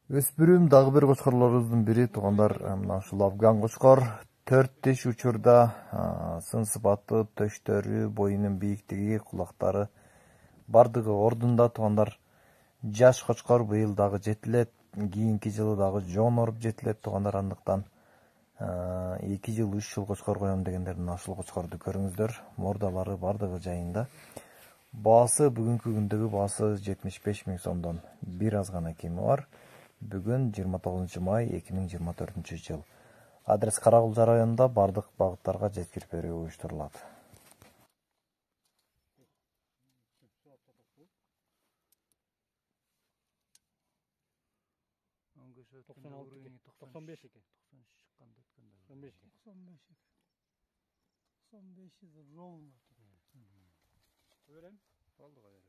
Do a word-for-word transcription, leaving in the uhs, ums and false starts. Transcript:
Өспүрүм дагы бир кочкорлорубуздун бири туугандар, мына ушул афган кочкор. Төрт тиш учурда сын сыпаты, төштөрү, боюнун бийиктиги, кулактары бардыгы ордунда туугандар. Жаш кочкор быйыл дагы жетилет, кийинки жылы дагы жон оруп жетилет туугандар. Андыктан эки жыл, үч жыл кочкор коем дегендер мына ушул кочкорду көрүңүздөр. Мордалары бардыгы жайында. Баасы бүгүнкү күндөгү баасы жетимиш беш миң сомдон бир аз гана кеми бар. Бүгүн жыйырма тогузунчу май эки миң жыйырма төртүнчү жыл. Адрес Каракулча районунда бардык багыттарга жеткирип берүү уюштурулат. токсон алты токсон беш экен. токсон беш токсон беш токсон беш ровно. Öğren. Oldu gayret.